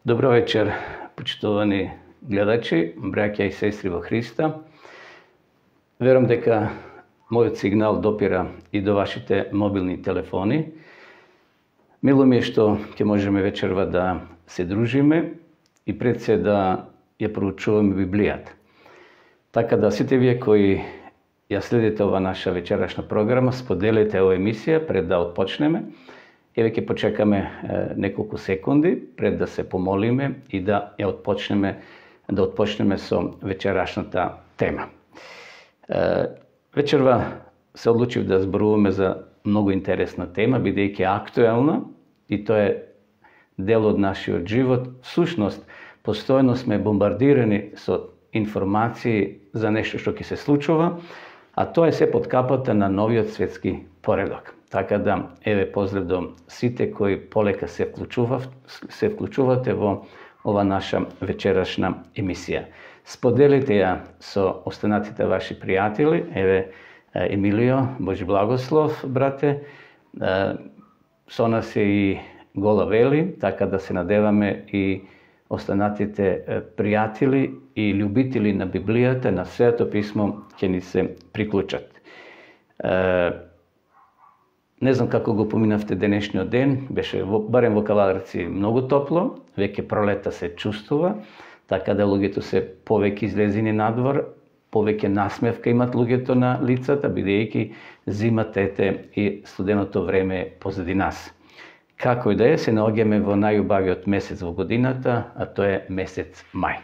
Добро вечер, почитувани гледачи, браќа и сестри во Христа. Верувам дека мојот сигнал допира и до вашите мобилни телефони. Мило ми е што ќе можеме вечерва да се дружиме и пред се да ја проучуваме Библијата. Така да сите вие кои ја следите ова наша вечерашна програма, споделете оваа емисија пред да отпочнеме. Еве ќе почекаме неколку секунди пред да се помолиме и да ја отпочнеме со вечерашната тема. Вечерва се одлучив да зборуваме за многу интересна тема, бидејќи е актуелна и тоа е дел од нашиот живот. Всушност, постојано сме бомбардирани со информации за нешто што ќе се случува, а тоа е се под капата на новиот светски поредок. Така да, еве поздрав до сите кои полека се вклучувате во ова наша вечерашна емисија. Споделите ја со останатите ваши пријатели. Еве Емилио, Божи благослов, брате. Со нас е и Гола Вели, така да се надеваме и останатите пријатели и љубители на Библијата, на Светото писмо ќе ни се приклучат. Не знам како го поминавте денешниот ден, беше барем во Кавадарци многу топло, веќе пролета се чувствува, така да луѓето се повеќе излезени надвор, повеќе насмевка имат луѓето на лицата, бидејќи зимата и студеното време е позади нас. Како и да е, се наоѓаме во најубавиот месец во годината, а тоа е месец мај.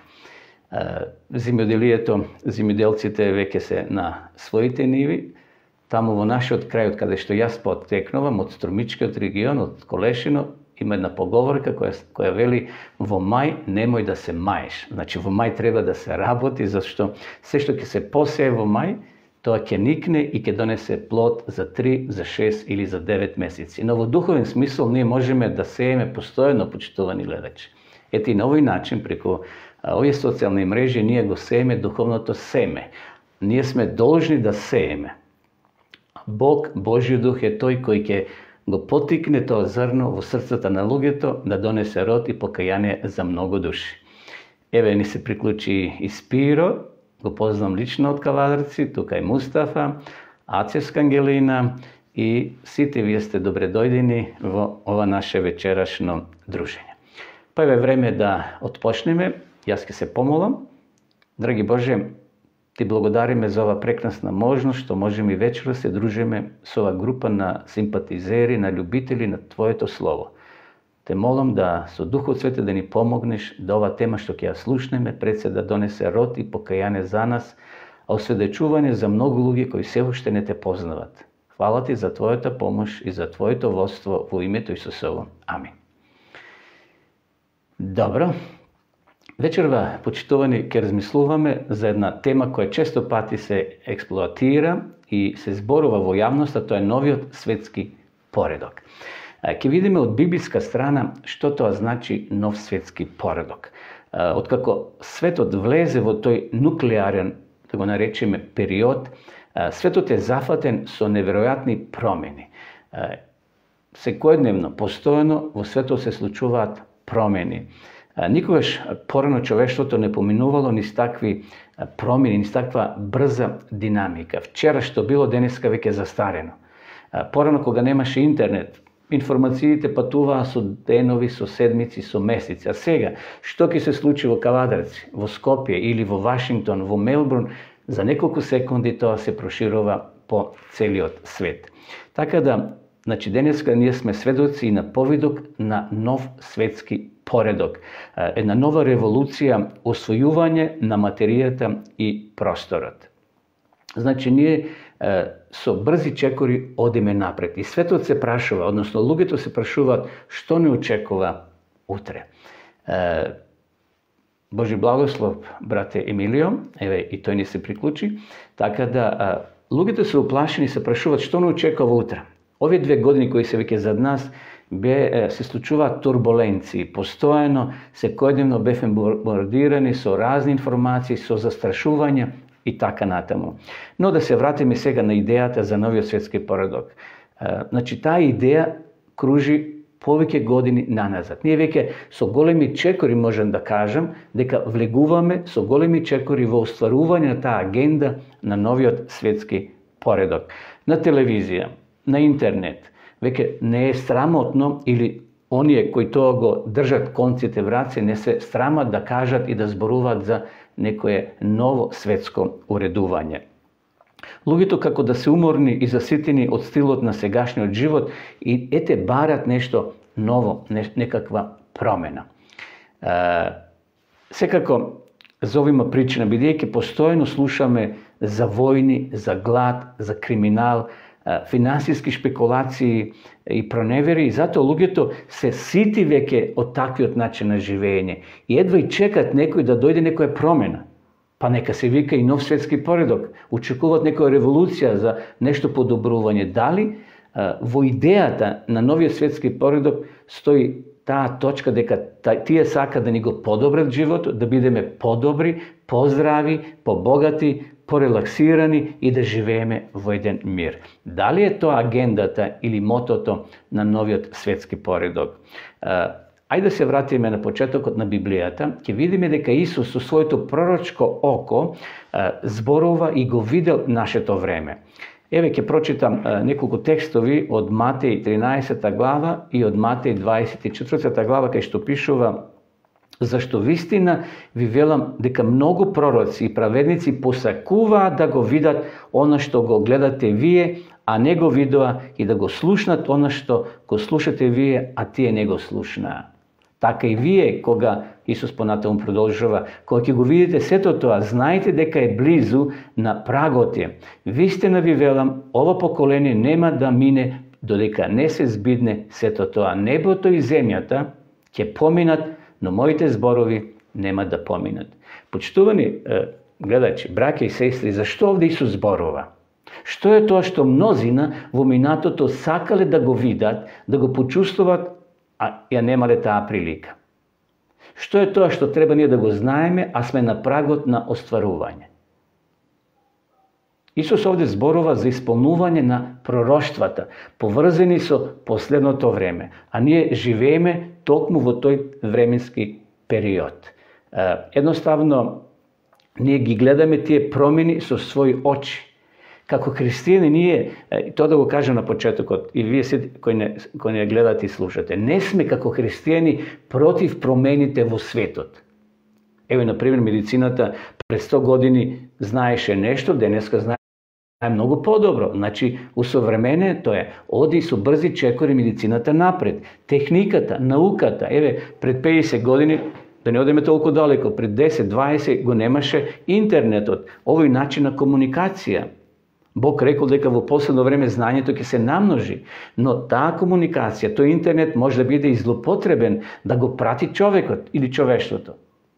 Земјоделците веќе се на своите ниви. Таму во нашиот крај, каде што јас потекнувам, од Струмичкиот регион, од Колешино, има една поговорка која вели: во мај немој да се маеш. Значи во мај треба да се работи, зашто се што ќе се посее во мај, тоа ќе никне и ќе донесе плод за 3, за 6 или за 9 месеци. Но во духовен смисол ние можеме да сееме постојано, почитувани гледачи. Ето и на овој начин, преку овие социјални мрежи, ние го сееме духовното семе. Ние сме должни да сееме. Бог, Божјиот дух е тој кој ќе го потикне тоа зрно во срцата на луѓето да донесе род и покаяние за многу души. Еве ни се приклучи и Спиро, го познам лично од Кавадарци, тука е Мустафа, Ацевска Ангелина и сите вие сте добре дојдени во ова наше вечерашно дружење. Па еве време да отпочнеме, јас ќе се помолам. Драги Боже, Ти благодариме за ова прекрасна можност што можеме и вечера се дружиме со ова група на симпатизери, на љубители на Твоето Слово. Те молам да со Духот Свети да ни помогнеш да ова тема што ќе ја слушнеме пред се да донесе род и покаяние за нас, а осведечување за многу луѓе кои се уште не Те познават. Фала Ти за Твојата помош и за Твоето водство во името Исусово. Амин. Добро. Вечерва, почитувани, ќе размислуваме за една тема која често пати се експлоатира и се зборува во јавноста, тоа е новиот светски поредок. Ќе видиме од библиска страна што тоа значи нов светски поредок. Откако светот влезе во тој нуклеарен, да го наречеме, период, светот е зафатен со неверојатни промени. Секојдневно, постојано во светот се случуваат промени. Никогаш порано човештвото не поминувало низ такви промени, низ таква брза динамика. Вчера што било, денеска веќе застарено. Порано кога немаше интернет, информациите патуваа со денови, со седмици, со месеци. А сега, што ќе се случи во Кавадарци, во Скопје или во Вашингтон, во Мелбурн, за неколку секунди тоа се проширува по целиот свет. Така да, значи денеска ние сме сведоци и на повидок на нов светски поредок, една нова револуција, освојување на материјата и просторот. Значи ние со брзи чекори одиме напред и светот се прашува, односно луѓето се прашуваат што не очекува утре. Божи благослов, брате Емилио, еве и тој ни се приклучи, така да луѓето се уплашени, се прашуваат што не очекува утре. Овие 2 години кои се веќе зад нас се случуваат турбуленции, постојано, секојдневно бевме бомбардирани со разни информации, со застрашувања и така натаму. Но да се вратиме сега на идејата за новиот светски поредок. Значи, таа идеја кружи повеќе години наназад. Ние веќе со големи чекори можем да кажем дека влегуваме со големи чекори во остварување на таа агенда на новиот светски поредок. На телевизија, на интернет, веќе не е срамотно или оние кои тоа го држат конците в раце не се срамат да кажат и да зборуваат за некое ново светско уредување. Луѓето како да се уморни и заситени од стилот на сегашниот живот и ете барат нешто ново, некаква промена. Секако за овима причина, бидејќи постојано слушаме за војни, за глад, за криминал, финансиски шпекулации и проневери, и затоа луѓето се сити веќе од таквиот начин на живење и едва и чекат некој да дојде некоја промена. Па нека се вика и нов светски поредок, очекуваат некоја револуција за нешто подобрување. Дали во идејата на новиот светски поредок стои таа точка дека тие сака да ни го подобрат животот, да бидеме подобри, поздрави, побогати, порелаксирани и да живееме во еден мир. Дали е тоа агендата или мотото на новиот светски поредок? Ајде да се вратиме на почетокот на Библијата, ќе видиме дека Исус со своето пророчко око зборува и го видел нашето време. Еве ќе прочитам неколку текстови од Матеј 13 глава и од Матеј 24 глава, кај што пишува: зашто вистина ви велам дека многу пророци и праведници посакуваат да го видат она што го гледате вие, а не го видоа, и да го слушнат она што го слушате вие, а тие не го слушнаа. Така и вие, кога, Исус понатаму продолжува, кога ќе го видите сето тоа, знаете дека е близу, на прагот е. Вистина ви велам, ова поколение нема да мине додека не се збидне сето тоа. Небото и земјата ќе поминат, но моите зборови нема да поминат. Почитувани гледачи, браќа и сестри, зашто овде Исус зборува? Што е тоа што мнозина во минатото сакале да го видат, да го почувствуват, а ја немале таа прилика? Што е тоа што треба ние да го знаеме, а сме на прагот на остварување? Исус овде зборува за исполнување на пророштвата, поврзани со последното време, а ние живееме токму во тој временски период. Едноставно, ние ги гледаме тие промени со своји очи. Како христијани ние, тоа да го кажам на почетокот, и вие сите кои не гледате и слушате, не сме како христијани против промените во светот. Еве, например, медицината пред 100 години знаеше нешто, денеска знае многу подобро. Значи, усовременето е, оди со брзи чекори медицината напред. Техниката, науката, еве, пред 50 години, да не одиме толку далеко, пред 10-20 го немаше интернетот, овој начин на комуникација. Бог рекол дека во последно време знањето ќе се намножи, но таа комуникација, тој интернет може да биде и злопотребен да го прати човекот или човештвото.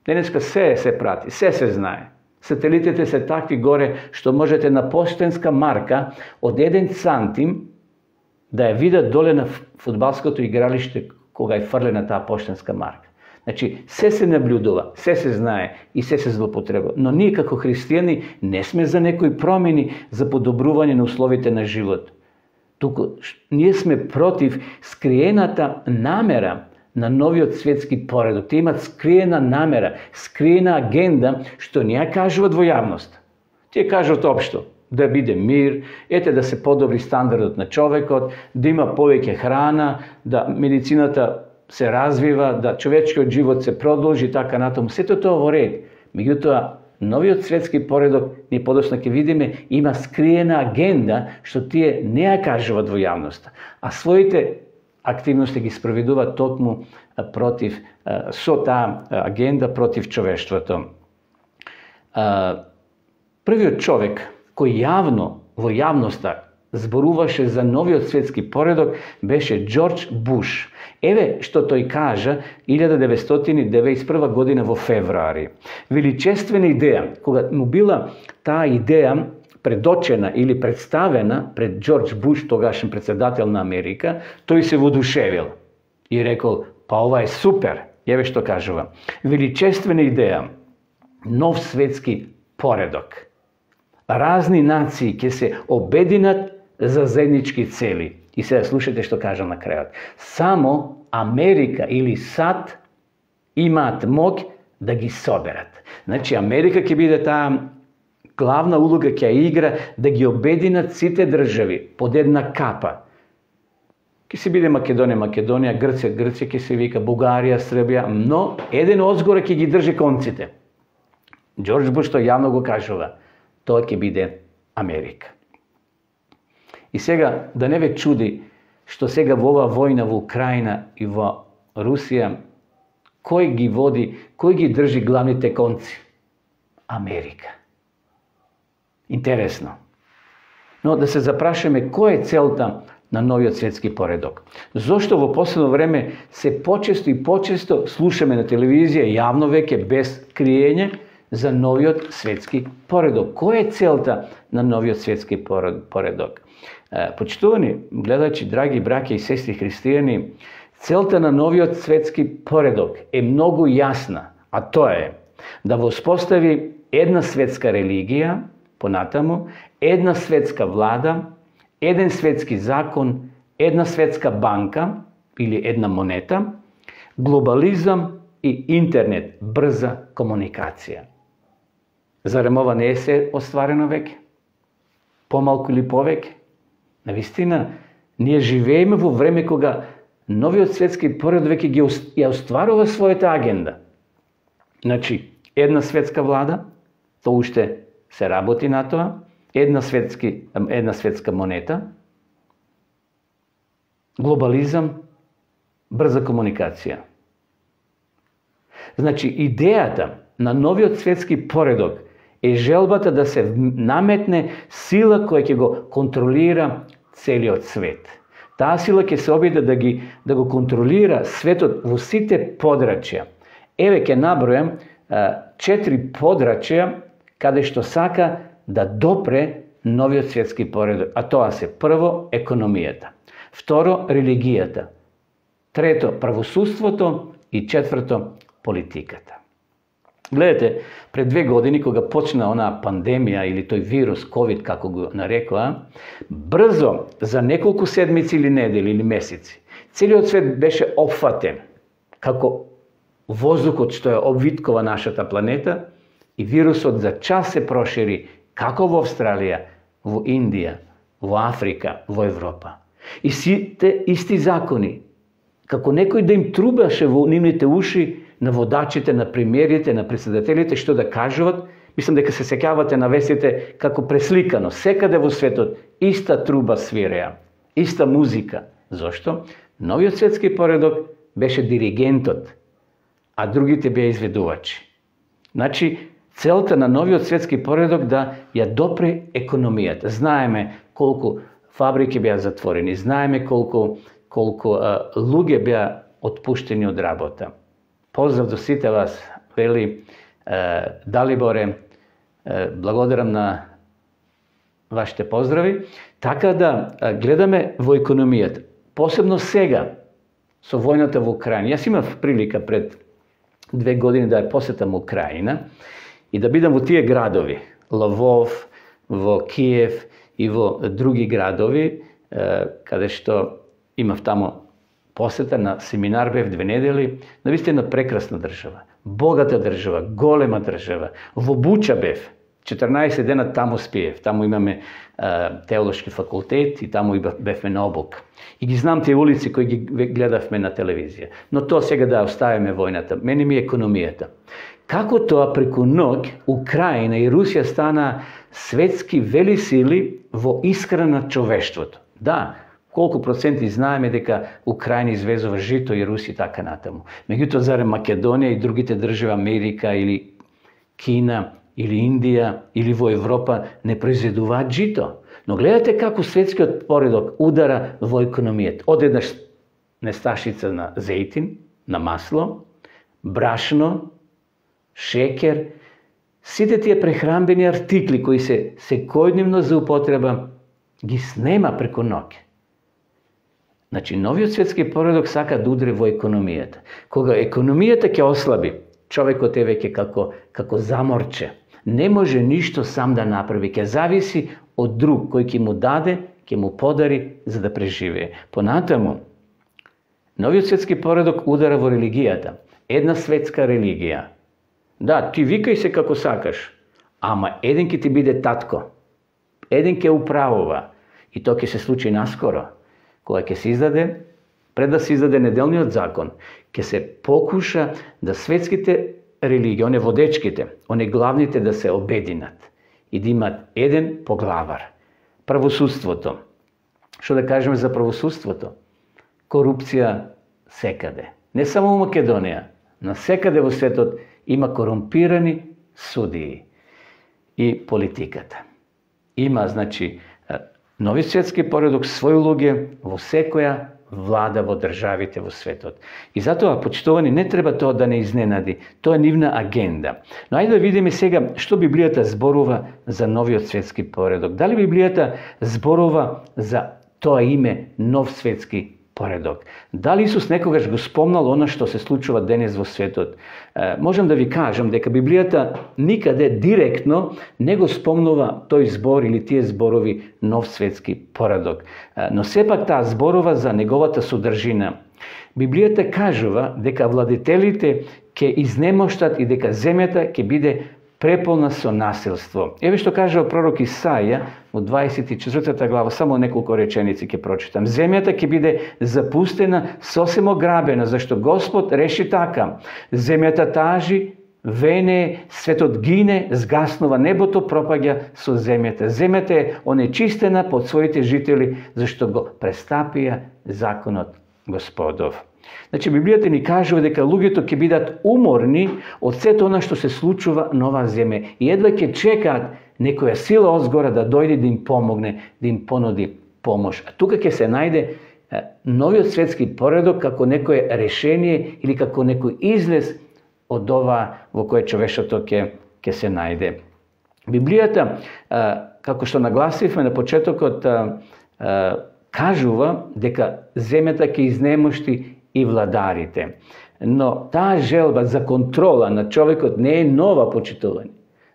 Денеска се прати, се знае. Сателитите се такви горе што можете на поштенска марка од 1 сантим да ја видат доле на фудбалското игралиште кога е фрлена таа поштенска марка. Значи, се наблюдува, се знае и се злопотреба. Но ние како христијани не сме за некои промени, за подобрување на условите на живот. Туку ние сме против скриената намера на новиот светски поредок. Те имат скриена намера, скриена агенда, што не ја кажуват во јавност. Тие кажуват општо, да биде мир, ете да се подобри стандардот на човекот, да има повеќе храна, да медицината се развива, да човечкиот живот се продолжи, така натаму. Сето тоа во ред. Меѓутоа, новиот светски поредок, ние подоцна ќе видиме, има скриена агенда што тие не ја кажуват во јавноста, а своите активности ги спроведуваат токму против, со таа агенда против човештвото. Првиот човек кој јавно, во јавноста, зборуваше за новиот светски поредок беше Џорџ Буш. Еве што тој кажа 1991 година во февруари. Величествена идеја, кога му била таа идеја предочена или представена пред Џорџ Буш, тогашен председател на Америка, тој се воодушевил и рекол: па ова е супер. Еве што кажува: величествена идеја, нов светски поредок. Разни нации ќе се обединат за заеднички цели. И сега слушайте што кажа на крајот. Само Америка или САД имаат моќ да ги соберат. Значи, Америка ќе биде таа главна улога, ќе игра да ги обединат сите држави под една капа. Ке се биде Македонија, Грција, ќе се вика Бугарија, Србија, но еден одзгора ќе ги држи конците. Џорџ Буш што јавно го кажува, тоа ќе биде Америка. И сега, да не ве чуди што сега во оваа војна во Украина и во Русија, кој ги води, кој ги држи главните конци? Америка. Интересно. Но да се запрашаме кој е целта на новиот светски поредок. Зошто во последно време се почесто и почесто слушаме на телевизија јавно веќе без криење за новиот светски поредок? Која е целта на новиот светски поредок? Почитувани гледачи, драги браќа и сестри христијани, целта на новиот светски поредок е многу јасна, а тоа е да воспостави една светска религија, понатаму, една светска влада, еден светски закон, една светска банка или една монета, глобализам и интернет, брза комуникација. Зарем ова не е се остварено веќе? Помалку или повеќе? Навистина, ние живееме во време кога новиот светски поредок веќе ја остварува својата агенда. Значи, една светска влада, тоа уште се работи на тоа, една светска монета, глобализам, брза комуникација. Значи, идејата на новиот светски поредок е желбата да се наметне сила која ќе го контролира целиот свет. Таа сила ќе се обиде да го контролира светот во сите подрачја. Еве ќе набројам 4 подрачја каде што сака да допре новиот светски поредок. А тоа се прво економијата, второ религијата, трето правосудството и четврто политиката. Гледате, пред 2 години кога почна онаа пандемија или тој вирус ковид како го нарекоа, брзо за неколку седмици или недели или месеци целиот свет беше опфатен како воздухот што ја обвиткува нашата планета и вирусот за час се прошири како во Австралија, во Индија, во Африка, во Европа. И сите исти закони, како некој да им трубаше во нивните уши на водачите, на премиерите, на председателите, што да кажуват, мислам дека се сеќавате на вестите како пресликано, секаде во светот иста труба свиреа, иста музика. Зошто? Новиот светски поредок беше диригентот, а другите беа изведувачи. Значи, целта на новиот светски поредок да ја допре економијата. Знаеме колку фабрики беа затворени, знаеме колку луѓе беа отпуштени од работа. Поздрав до сите вас, вели Далиборе, благодарам на вашите поздрави. Така да гледаме во економијата. Посебно сега, со војната во Украина. Јас имав прилика пред 2 години да ја посетам Украина и да бидам во тие градови, Лвов, во Киев и во други градови, каде што имав тамо посета на семинар, бев 2 недели, навистина прекрасна држава, богата држава, голема држава. Во Буча бев, 14 дена таму спиев, таму имаме теолошки факултет и таму бевме на обук. И ги знам тие улици кои ги гледавме на телевизија. Но тоа сега да оставиме војната. Мене ми е економијата. Како тоа преку ноќ Украина и Русија стана светски велисили во исхрана на човештвото? Да, колку проценти знаеме дека Украина извезува жито и Русија така натаму. Меѓутоа, зарем Македонија и другите држави, Америка или Кина или Индија или во Европа не произведуваат жито? Но гледате како светскиот поредок удара во економијата. Одеднаш несташица на зејтин, на масло, брашно, шекер, сите тие прехранбени артикли кои се секојдневно за употреба ги снема преку ноќ. Значи, новиот светски поредок сака да удри во економијата. Кога економијата ќе ослаби, човекот е веќе како заморче. Не може ништо сам да направи, ќе зависи од друг кој ќе му даде ќе му подари за да преживее. Понатаму, новиот светски поредок удара во религијата. Една светска религија. Да, ти викај се како сакаш, ама еден ќе ти биде татко. Еден ќе управува. И тоа ќе се случи наскоро, кога ќе се издаде, пред да се издаде неделниот закон, ќе се покуша да светските религии, оне водечките, оне главните да се обединат и да имат еден поглавар. Правосудството. Што да кажеме за правосудството? Корупција секаде. Не само во Македонија, на секаде во светот има корумпирани судии. И политиката. Има, значи, нови светски поредок свој улоги во секоја влада во државите во светот. И затоа, почитувани, не треба тоа да не изненади. Тоа е нивна агенда. Но ајде да видиме сега што Библијата зборува за новиот светски поредок. Дали Библијата зборува за тоа име нов светски поредок? Дали Исус некогаш го спомнал она што се случува денес во светот? Можам да ви кажам дека Библијата никаде директно не го спомнува тој збор или тие зборови нов светски поредок. Но сепак таа зборува за неговата содржина. Библијата кажува дека владетелите ќе изнемоштат и дека земјата ќе биде преполна со насилство. Еве што кажува пророк Исаја во 24 глава, само неколку реченици ќе прочитам. Земјата ќе биде запустена, сосем ограбена, зашто Господ реши така. Земјата тажи, вене, светот гине, згаснува, небото пропаѓа со земјата. Земјата е онечистена под своите жители, зашто го престапија законот Господов. Значи, Библијата ни кажува дека луѓето ќе бидат уморни од сето она што се случува на оваа земја и едва ќе чекаат некоја сила одзгора да дојде да им помогне, да им понуди помош. А тука ќе се најде новиот светски поредок како некое решение или како некој излез од ова во кое човештвото ќе се најде. Библијата, како што нагласивме на почетокот, кажува дека земјата ќе изнемошти и владарите. Но таа желба за контрола на човекот не е нова, почитувани.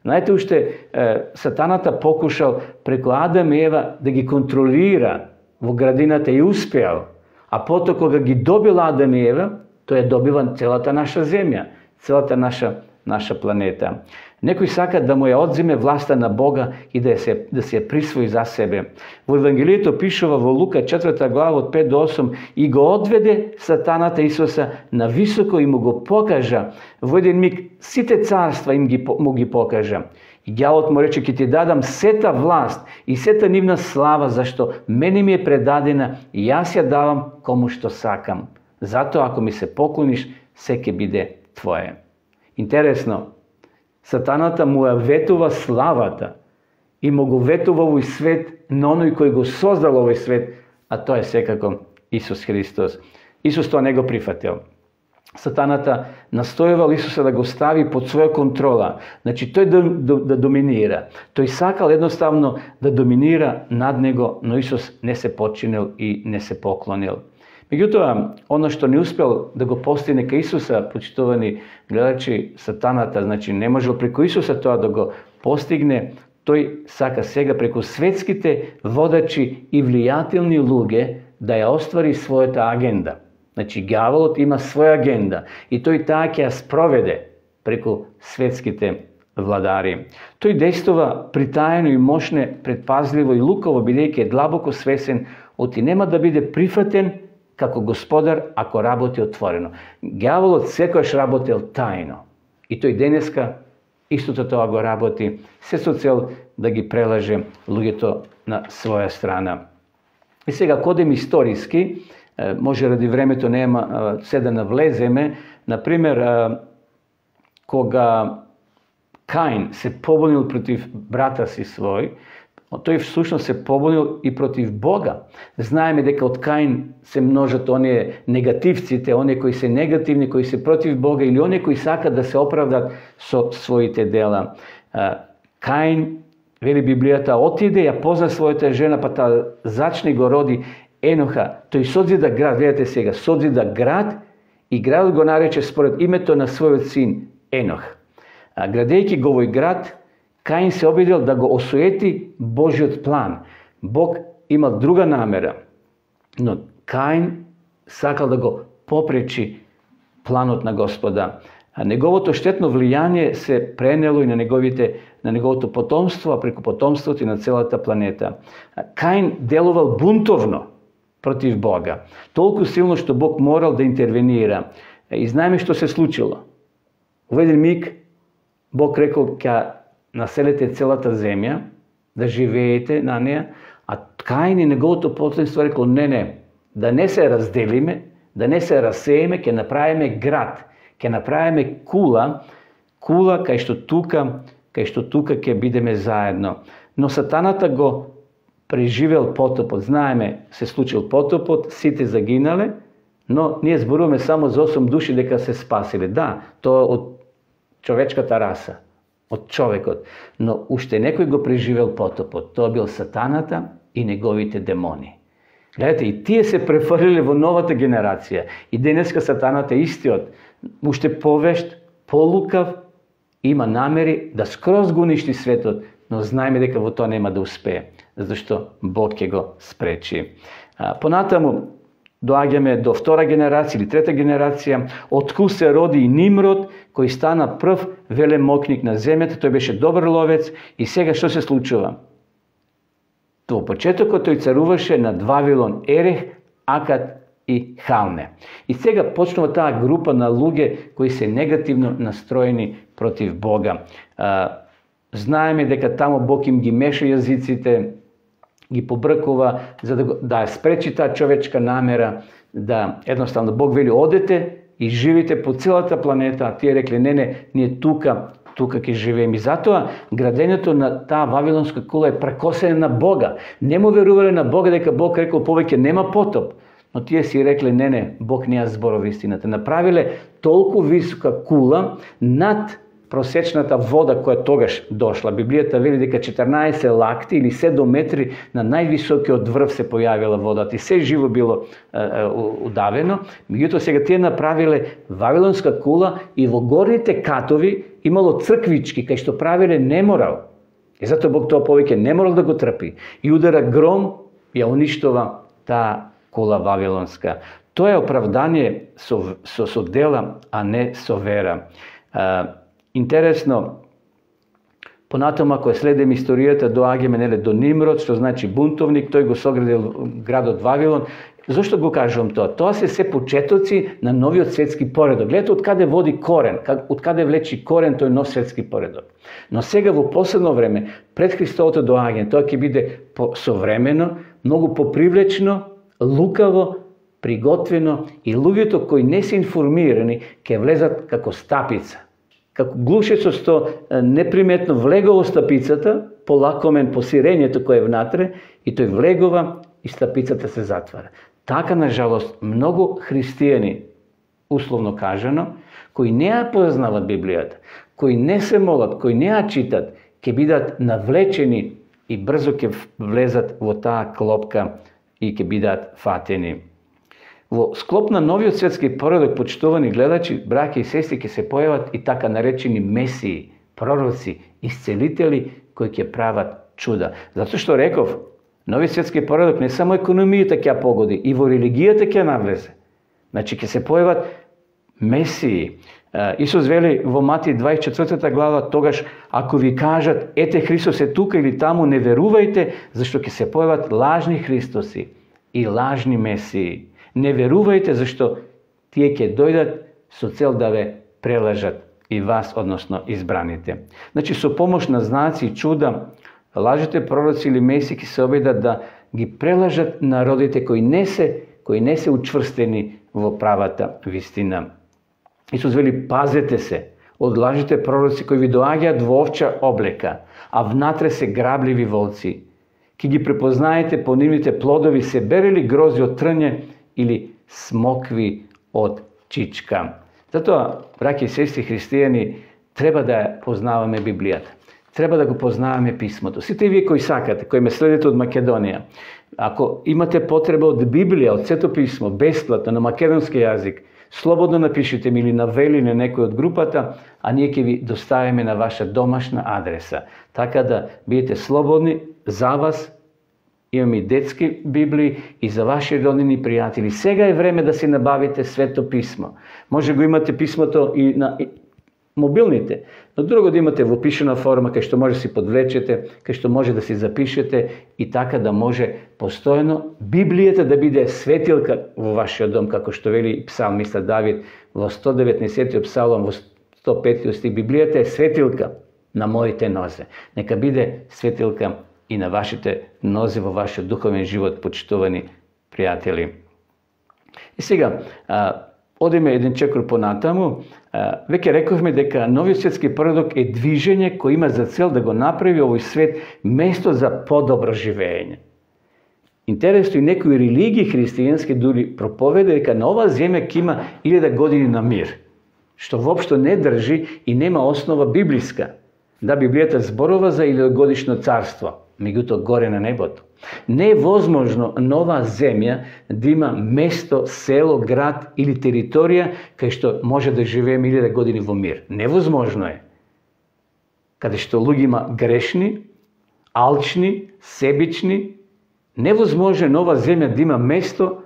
Знаете, уште сатаната покушал преку Адам и Ева да ги контролира во градината и успеал. А потоа кога ги добил Адам и Ева, тој е добива целата наша земја, целата наша планета. Некој сака да му ја одземе власта на Бога и да се ја присвои за себе. Во Евангелието пишува во Лука 4 глава од 5 до 8 и го одведе сатаната Исуса на високо и му го покажа. Во еден миг сите царства му ги покажа. И ѓавот му рече: ќе ти дадам сета власт и сета нивна слава, зашто мене ми е предадена и јас ја давам кому што сакам. Затоа ако ми се поклониш, се ќе биде твое. Интересно, сатаната му ја ветува славата и му го ветува овој свет на оној кој го создал овој свет, а тоа е секако Исус Христос. Исус тоа не го прифатил. Сатаната настојувал Исуса да го стави под своја контрола. Значи, тој да доминира. Тој сакал едноставно да доминира над него, но Исус не се подчинил и не се поклонил. Меѓутоа, оно што не успел да го постигне кај Исуса, почитувани гледачи, сатаната, значи не можел преку Исуса тоа да го постигне, тој сака сега преку светските водачи и влијателни луѓе да ја оствари својата агенда. Значи, ѓаволот има своја агенда и тој таа ќе ја спроведе преку светските владари. Тој действува притаено и мощне, предпазливо и лукаво, бидејќи е длабоко свесен оти нема да биде прифатен како господар ако работи отворено. Ѓаволот секојаш работел тајно. И тој денеска истото тоа го работи, се со цел да ги прелаже луѓето на своја страна. И сега кодем историски, може ради времето нема се да навлеземе, например, кога Каин се побунил против брата си свој, тој всушност се побунил и против Бога. Знаеме дека од Каин се множат оние негативците, оние кои се негативни, кои се против Бога или оние кои сакат да се оправдат со своите дела. Каин, вели Библијата, отиде, ја позна својата жена, па таа зачне го роди Еноха. Тој созида град, гледате сега, созида град и градот го нарече според името на својот син Енох. Градејќи го овој град, Каин се обидел да го осуети Божиот план. Бог имал друга намера, но Каин сакал да го попречи планот на Господа. А неговото штетно влијание се пренело и на неговото потомство, а преку потомството и на целата планета. Каин делувал бунтовно против Бога, толку силно што Бог морал да интервенира. И знаеме што се случило. Во еден миг Бог рекол ќе населите целата земја, да живеете на неа, а Каин и неговото потомство рекол не, да не се разделиме, да не се расееме, ќе направиме град, ќе направиме кула кај што тука ќе бидеме заедно. Но сатаната го преживел потопот. Знаеме, се случил потопот, сите загинале, но ние зборуваме само за 8 души дека се спасиле. Да, тоа од човечката раса, од човекот. Но уште некој го преживел потопот. Тоа бил сатаната и неговите демони. Гледате, и тие се префрлиле во новата генерација. И денеска сатаната е истиот. Уште повешт, полукав, има намери да скроз го уништи светот, но знаеме дека во тоа нема да успее, зашто Бог ќе го спречи. Понатаму доаѓаме до втора генерација или трета генерација, откако се роди и Нимрод, кој стана прв велемокник на земјата. Тој беше добар ловец и сега што се случува? Во почетокот тој царуваше над Вавилон, Ерех, Акад и Халне. И сега почнува таа група на луѓе кои се негативно настроени против Бога. Знаеме дека таму Бог им ги меша јазиците, ги побркува за да спречи таа човечка намера, да едноставно Бог вели одете и живите по целата планета, а тие рекле не, ние тука ќе живееме. И затоа градењето на таа вавилонска кула е прекосене на Бога. Не му верувале на Бога дека Бог рекол повеќе нема потоп. Но тие си рекле не, Бог не ја зборува истината. Направиле толку висока кула над просечната вода која тогаш дошла. Библијата вели дека 14 лакти или 7 метри на највисокиот врв се појавила водата и се живо било удавено. Меѓутоа сега тие направиле вавилонска кула и во горните катови имало црквички кај што правиле неморал. И затоа Бог тоа повеќе не морал да го трпи. И удара гром, ја уништува таа кула вавилонска. Тоа е оправдание со дела, а не со вера. Интересно, понатаму ако следиме историјата, доаѓаме до Нимрод, што значи бунтовник, тој го соградил градот Вавилон. Зошто го кажувам тоа? Тоа се почетоци на новиот светски поредок. Гледате од каде води корен, од каде влечи корен тој нов светски поредок. Но сега во последно време, пред Христовото доаѓање, тоа ќе биде современо, многу попривлечно, лукаво, приготвено и луѓето кои не се информирани ќе влезат како стапица. Како глушецот што неприметно влегува стапицата, полакомен по сирењето кое е внатре, и тој влегува и стапицата се затвара. Така, на жалост, многу христијани, условно кажано, кои не ја познават Библијата, кои не се молат, кои не ја читат, ќе бидат навлечени и брзо ќе влезат во таа клопка и ќе бидат фатени. Во склоп на новиот светски поредок, почитувани гледачи, браќа и сестри, ќе се појават и така наречени месии, пророци, исцелители кои ќе прават чуда. Затоа што реков, новиот светски поредок не само економијата ќе погоди, и во религијата ќе навлезе. Значи ќе се појават месии. Исус вели во Матеј 24 глава, тогаш ако ви кажат ете Христос е тука или таму, не верувајте, зашто ќе се појават лажни Христоси и лажни месии. Не верувајте, зашто тие ќе дојдат со цел да ве прелажат и вас, односно избраните. Значи, со помош на знаци и чуда, лажите пророци или месии ќе се обидат да ги прелажат народите кои не се учврстени во правата вистина. Исус вели, пазете се од лажите пророци кои ви доаѓаат во овча облека, а внатре се грабливи волци. Ки ги препознаете по нивните плодови, се берели грози од трње или смокви од чичка. Затоа, браќи и сестри христијани, треба да познаваме Библијата. Треба да го познаваме писмото. Сите вие кои сакате, кои ме следите од Македонија, ако имате потреба од Библија, од Сето писмо, бесплатно на македонски јазик, слободно напишете ми или навели на некој од групата, а ние ќе ви доставиме на ваша домашна адреса. Така да бидете слободни за вас, имам и детски библии и за ваши роднини пријатели. Сега е време да си набавите Свето писмо. Може го имате писмото и на мобилните, но друго да имате во пишена форма, кај што може да си подвлечете, кај што може да си запишете и така да може постојано Библијата да биде светилка во вашиот дом, како што вели псалмиста Давид во 119 псалом, во 105 стих. Библијата е светилка на моите нозе. Нека биде светилка и на вашите нозе во вашиот духовен живот, почитувани пријатели. И сега, одиме еден чекор понатаму. Веќе рековме дека новиот светски поредок е движење кој има за цел да го направи овој свет место за подобро живење. Интересно, и некои религии христијански дури проповеда дека на оваа земја ќе има 1000 години на мир, што воопшто не држи и нема основа библиска. Да, Библијата зборува за 1000-годишно царство, меѓутоа горе на небото. Не е возможно нова земја да има место, село, град или територија кај што може да живееме 1000 години во мир. Невозможно е. Каде што луѓе има грешни, алчни, себични, невозможно е нова земја да има место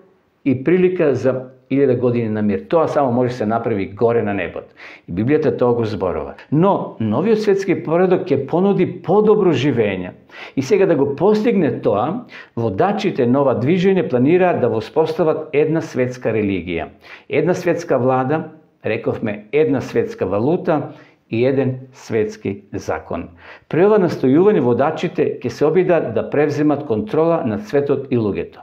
и прилика за 1000 години на мир. Тоа само може да се направи горе на небото. И Библијата тоа го зборува. Но новиот светски поредок ќе понуди подобро живење. И сега да го постигне тоа, водачите нова движење планираат да воспостават една светска религија, една светска влада, рековме една светска валута и еден светски закон. При ова настојување водачите ќе се обидат да превземат контрола над светот и луѓето.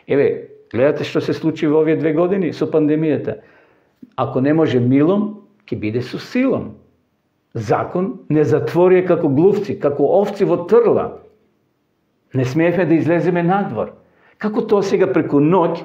Еве, гледате што се случи во овие 2 години со пандемијата. Ако не може милом, ќе биде со силом. Закон не затворија како глувци, како овци во трла. Не смеевме да излеземе надвор. Како тоа сега преку ноќ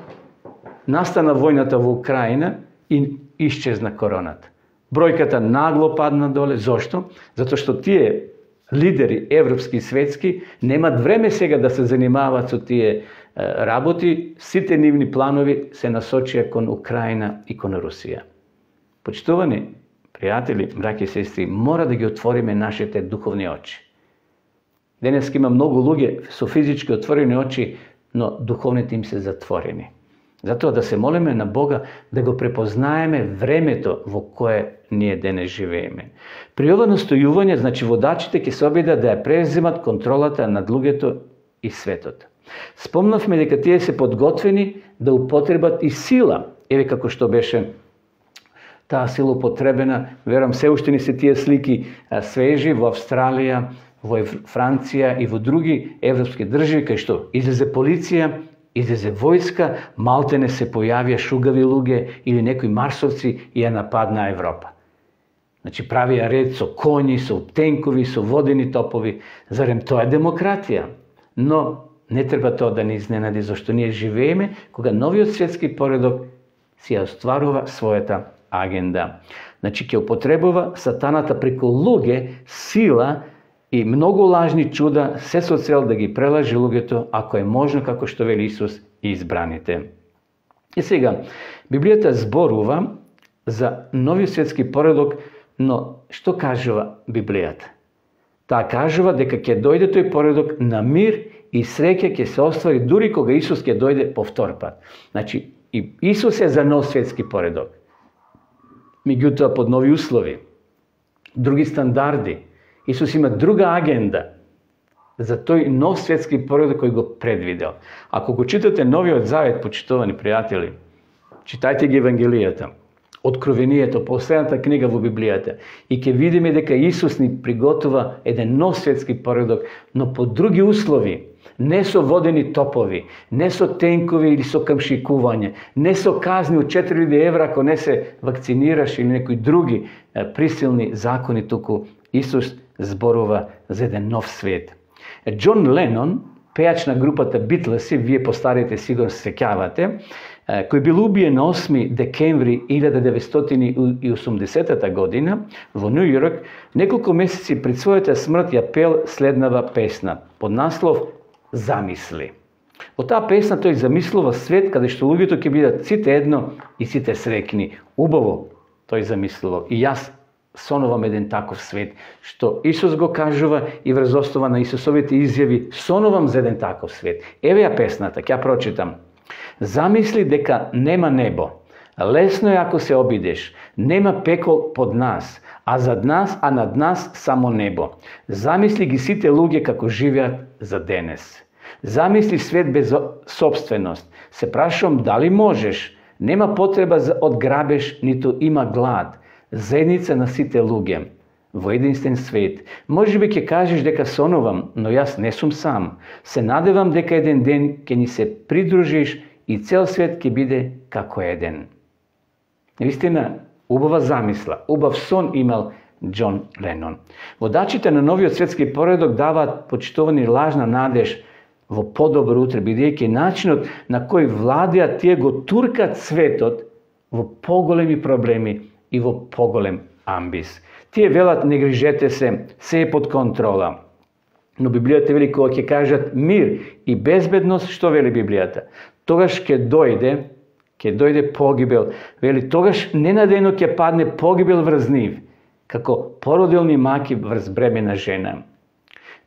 настана војната во Украина и исчезна короната. Бројката нагло падна доле. Зошто? Затоа што тие лидери, европски и светски, немат време сега да се занимаваат со тие работи. Сите нивни планови се насочија кон Украина и кон Русија. Почитувани пријатели, браќи и сестри, мора да ги отвориме нашите духовни очи. Денеска има многу луѓе со физички отворени очи, но духовните им се затворени. Затоа да се молиме на Бога да го препознаеме времето во кое ние денес живееме. При ова настојување, значи водачите ќе се обидат да ја преземат контролата над луѓето и светот. Спомнавме дека тие се подготвени да употребат и сила. Еве како што беше таа сила употребена, верам се уште ни се тие слики свежи во Австралија, во Франција и во други европски држави, кај што излезе полиција, излезе војска, малтене се појавија шугави луѓе или некои марсовци и ја нападнаа Европа. Значи правија ред со коњи, со тенкови, со водени топови. Зарем тоа е демократија? Но не треба тоа да ни изненади, зашто ние живееме кога новиот светски поредок си ја остварува својата агенда. Значи ќе употребува сатаната преку луѓе, сила и многу лажни чуда, се со цел да ги прелажи луѓето, ако е можно, како што вели Исус, и избраните. И сега, Библијата зборува за новиот светски поредок, но што кажува Библијата? Таа кажува дека ќе дојде тој поредок на мир и среќа ќе се оствари дури кога Исус ќе дојде по втор пат. Значи, и Исус е за нов светски поредок. Меѓутоа под нови услови, други стандарди. Исус има друга агенда за тој нов светски поредок кој го предвидел. Ако го читате Новиот Завет, почитувани пријатели, читајте ги Евангелијата, Откровението, последната книга во Библијата, и ќе видиме дека Исус ни приготува еден нов светски поредок, но по други услови, не со водени топови, не со тенкови или со камшикување, не со казни од 4000 евра ако не се вакцинираш или некои други присилни закони, туку Исус зборува за еден нов свет. Џон Ленон, пејач на групата Битлеси, вие постарите сигурно се сеќавате, кој бил убиен на 8 декември 1980 година во Нью Йорк, неколку месеци пред својата смрт ја пел следнава песна под наслов Замисли. Во таа песна тој замислува свет каде што луѓето ќе бидат сите едно и сите среќни. Убаво тој замислува. И јас сонувам еден таков свет, што Исус го кажува и врз основа на Исусовите изјави, сонувам за еден таков свет. Еве ја песната, ќе ја прочитам. Замисли дека нема небо. Лесно е ако се обидеш. Нема пекол под нас, а над нас само небо. Замисли ги сите луѓе како живеат за денес. Замисли свет без собственост. Се прашувам дали можеш. Нема потреба од грабеж, ниту има глад. Заедница на сите луѓе во единствен свет. Може би ќе кажеш дека сонувам, но јас не сум сам. Се надевам дека еден ден ќе ни се придружиш и цел свет ќе биде како еден. Вистина, убава замисла, убав сон имал Џон Ленон. Водачите на новиот светски поредок даваат почитувани лажна надеж во подобро утре, бидејќи начинот на кој владеат тие го туркат светот во поголеми проблеми и во поголем амбис. Тие велат не грижете се е под контрола. Но Библијата вели кога ќе кажат мир и безбедност, што вели Библијата? Тогаш ќе дојде погибел. Вели тогаш ненадејно ќе падне погибел врз нив, како породилни маки врз бремена жена.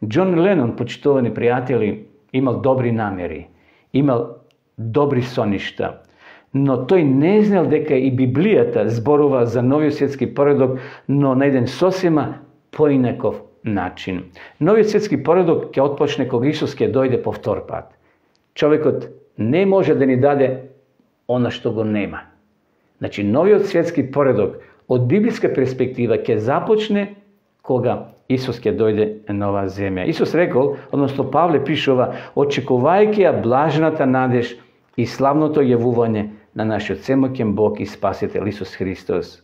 Џон Ленон, почитувани пријатели, имал добри намери, имал добри соништа, но тој не знал дека и Библијата зборува за новиот светски поредок, но на еден сосема поинаков начин. Новиот светски поредок ќе отпочне кога Исус ќе дојде по втор пат. Човекот не може да ни даде она што го нема. Значи, новиот светски поредок од библиска перспектива ќе започне кога Исус ќе дојде на оваа земја. Исус рекол, односно Павле пишува, очекувајќи ја блажната надеж и славното јавување на нашиот всемоќен Бог и Спасител Исус Христос.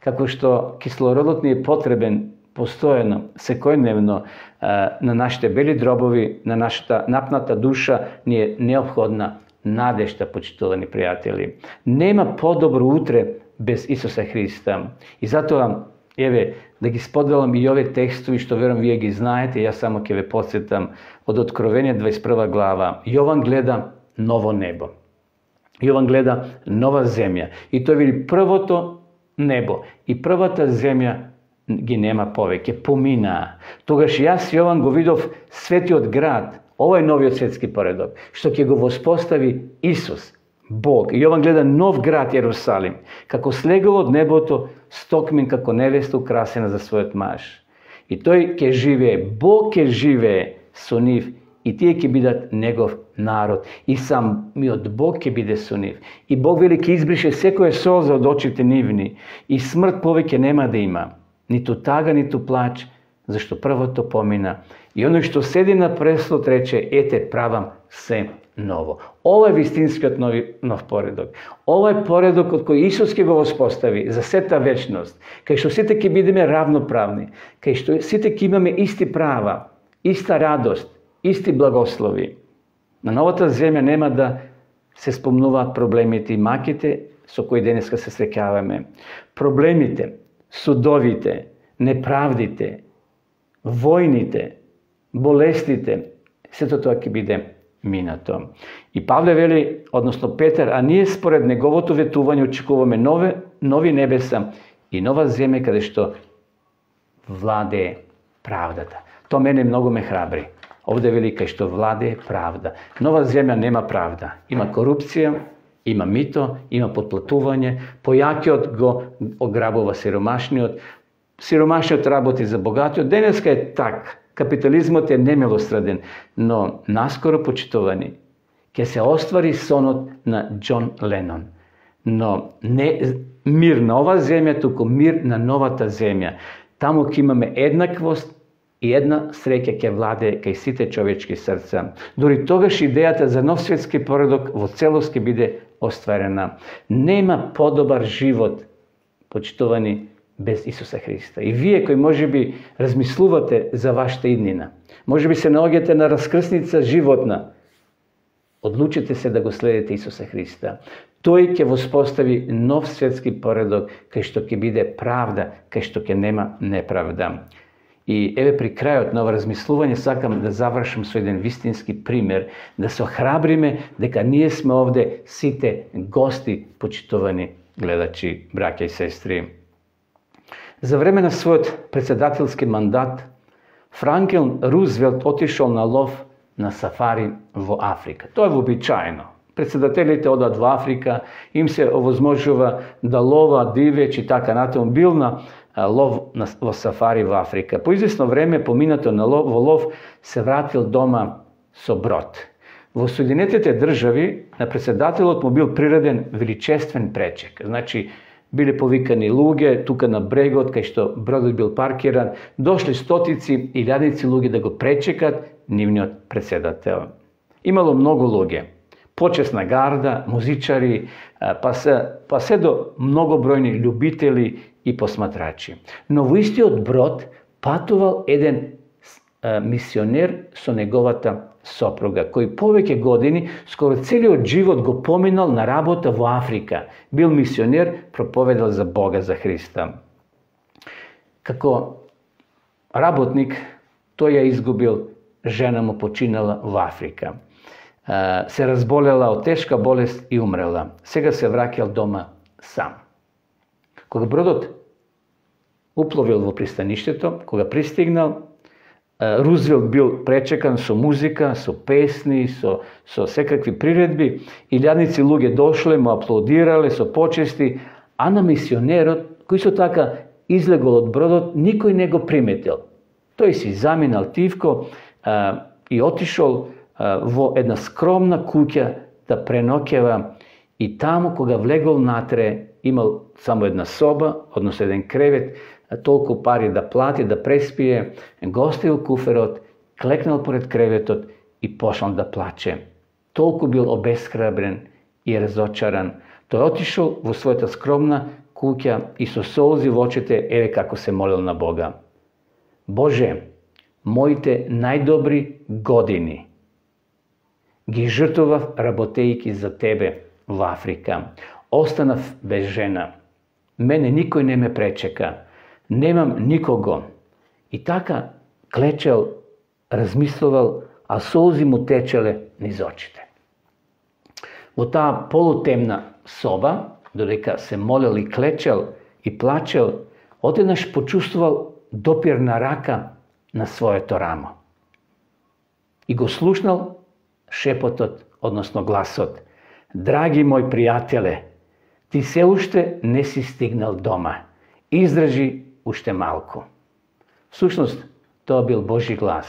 Како што кислородот ни е потребен постојано, секојдневно на нашите бели дробови, на нашата напната душа ни е неопходна надежта, почитувани пријатели. Нема подобро утре без Исуса Христа. И затоа, еве, да ги споделам и овие текстови што верувам вие ги знаете, јас само ќе ве потсетам од Откровение 21 глава. Јован гледа ново небо. Јован гледа нова земја. И тој вели првото небо и првата земја ги нема повеќе, поминаа. Тогаш јас Јован го видов светиот град, ова е новиот светски поредок, што ќе го воспостави Исус, Бог. Јован гледа нов град Јерусалим, како слегува од небото, стокмен како невеста украсена за својот маж. И тој ќе живее, Бог ќе живее со нив и тие ќе бидат негов народ. И самиот Бог ќе биде со нив. И Бог вели ќе избрише секоја солза од очите нивни и смрт повеќе нема да има. Ниту тага, ниту плач, зашто првото помина. И оној што седи на престолот рече, ете, правам се ново. Ова е вистинскиот нов поредок. Ова е поредок од кој Исус ќе го воспостави за сета вечност, кај што сите ќе бидеме равноправни, кај што сите ќе имаме исти права, иста радост, исти благослови. На новата земја нема да се спомнуваат проблемите и маките со кои денеска се среќаваме. Проблемите, судовите, неправдите, војните, болестите, сето тоа ќе биде минато. И Павле вели, односно Петар, а ние според неговото ветување очекуваме нови небеса и нова земја каде што владее правдата. То мене многу ме храбри. Овде вели кај што владее правда. Нова земја нема правда. Има корупција, има мито, има подплатување, појакиот го ограбува сиромашниот, сиромашниот работи за богатиот. Денеска е так. Капитализмот е немилосреден, но наскоро, почитувани, ќе се оствари сонот на Џон Ленон. Но не мир на ова земја, туку мир на новата земја. Таму ќе имаме еднаквост и една среќа ќе владее кај сите човечки срца. Дори тогаш идејата за нов светски поредок во целост ќе биде остварена. Нема подобар живот, почитувани, без Исуса Христа. И вие кои можеби размислувате за вашата иднина, можеби се наоѓате на раскрсница животна, одлучете се да го следите Исуса Христа. Тој ќе воспостави нов светски поредок, кај што ќе биде правда, кај што ќе нема неправда. И еве при крајот на ова размислување сакам да завршам со еден вистински пример, да се охрабриме дека ние сме овде сите гости, почитувани гледачи, браќа и сестри. За време на својот председателски мандат, Франклин Рузвелт отишол на лов на сафари во Африка. Тоа е вообичаено. Председателите одат во Африка, им се овозможува да лова дивеч и така натаму. Бил на лов во сафари во Африка. По известно време, поминато во лов, се вратил дома со брод. Во Соединетите држави на председателот му бил приреден величествен пречек. Значи, биле повикани луѓе тука на брегот, кај што бродот бил паркиран, дошли стотици и илјадници луѓе да го пречекат нивниот председател. Имало многу луѓе, почесна гарда, музичари, па се до многобројни љубители и посматрачи. Но во истиот брод патувал еден мисионер со неговата сопруга, кој повеќе години, скоро целиот живот го поминал на работа во Африка. Бил мисионер, проповедал за Бога, за Христа. Како работник, тој ја изгубил, жена му починала во Африка. Се разболела од тешка болест и умрела. Сега се враќал дома сам. Кога бродот упловил во пристаништето, кога пристигнал, Рузвелт бил пречекан со музика, со песни, со секакви приредби. Илјадници луѓе дошле, му аплодирале со почести, а на мисионерот, кој со така излегол од бродот, никој не го приметил. Тој си заминал тивко и отишол во една скромна куќа да преноќева, и таму кога влегол натре, имал само една соба, односно еден кревет, толку пари да плати, да преспие, го оставил куферот, клекнал поред креветот и почнал да плаче. Толку бил обесхрабрен и разочаран. Тој отишол во својата скромна куќа и со солзи во очите, еве како се молил на Бога. Боже, моите најдобри години ги жртвував работејќи за Тебе во Африка. Останав без жена. Мене никој не ме пречека. Немам никого. И така клечел, размислувал, а солзи му течеле низ очите. Во таа полутемна соба, додека се молел и клечел и плачел, одеднаш почувствувал допир на рака на своето рамо. И го слушнал шепотот, односно гласот: Драги мој пријателе, ти се уште не си стигнал дома. Издржи уште малку. Всушност, тоа бил Божи глас.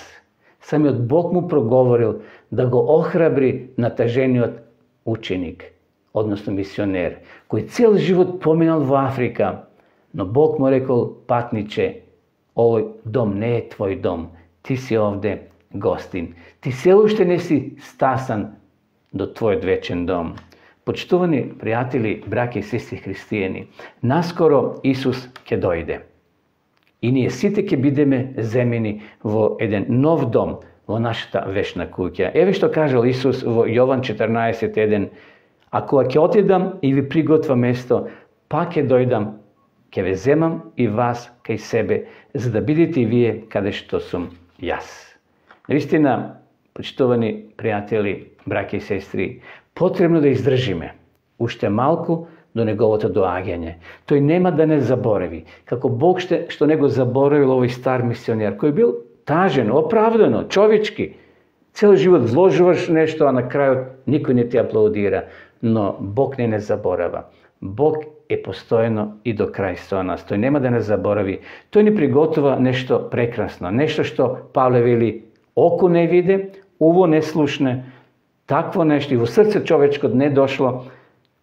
Самиот Бог му проговорил да го охрабри натажениот ученик, односно мисионер, кој цел живот поминал во Африка, но Бог му рекол: патниче, овој дом не е твој дом, ти си овде гостин. Ти се уште не си стасан до твојот вечен дом. Почитувани пријатели, браќа и сестри христијани, наскоро Исус ќе дојде. И ние сите ќе бидеме земени во еден нов дом, во нашата вечна куќа. Еве што кажал Исус во Јован 14:1: А кога ќе отидам и ви приготвам место, пак ќе дојдам, ќе ве земам и вас кај себе, за да бидете и вие каде што сум јас. Наистина, почитувани пријатели, браќа и сестри, потребно да издржиме уште малку до неговото доаѓање. Тој нема да не заборави. Како Бог што не го заборавил овој стар мисионер, кој бил тажен, оправдано, човечки. Цел живот вложуваш нешто, а на крајот никој не ти аплаудира. Но Бог не заборава. Бог е постојано и до крај со нас. Тој нема да не заборави. Тој ни приготува нешто прекрасно. Нешто што Павле вели: око не виде, уво не слушне, такво нешто и во срце човечкот не дошло.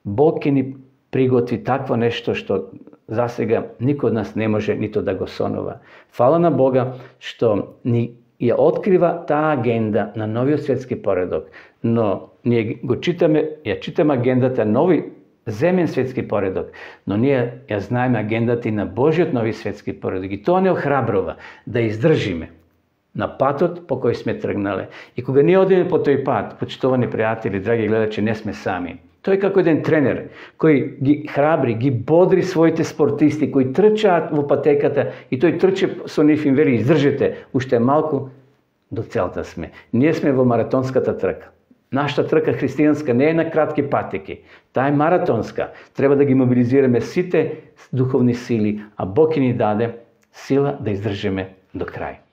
Бог ќе ни приготви такво нешто што засега никој од нас не може нито да го сонува. Фала на Бога што ни ја открива таа агенда на новиот светски поредок, но ние го читаме, ја читаме агендата нови земен светски поредок, но ние ја знаеме агендата и на Божиот нови светски поредок, и тоа не охрабрува да издржиме на патот по кој сме тргнале. И кога ние одиме по тој пат, почитувани пријатели, драги гледачи, не сме сами. Тој како еден тренер кој ги храбри, ги бодри своите спортисти кои трчаат во патеката, и тој трче со нив им вели: издржете, уште малку до целта сме. Ние сме во маратонската трка. Нашата трка христијанска не е на кратки патеки, таа е маратонска. Треба да ги мобилизираме сите духовни сили, а Бог ни даде сила да издржиме до крај.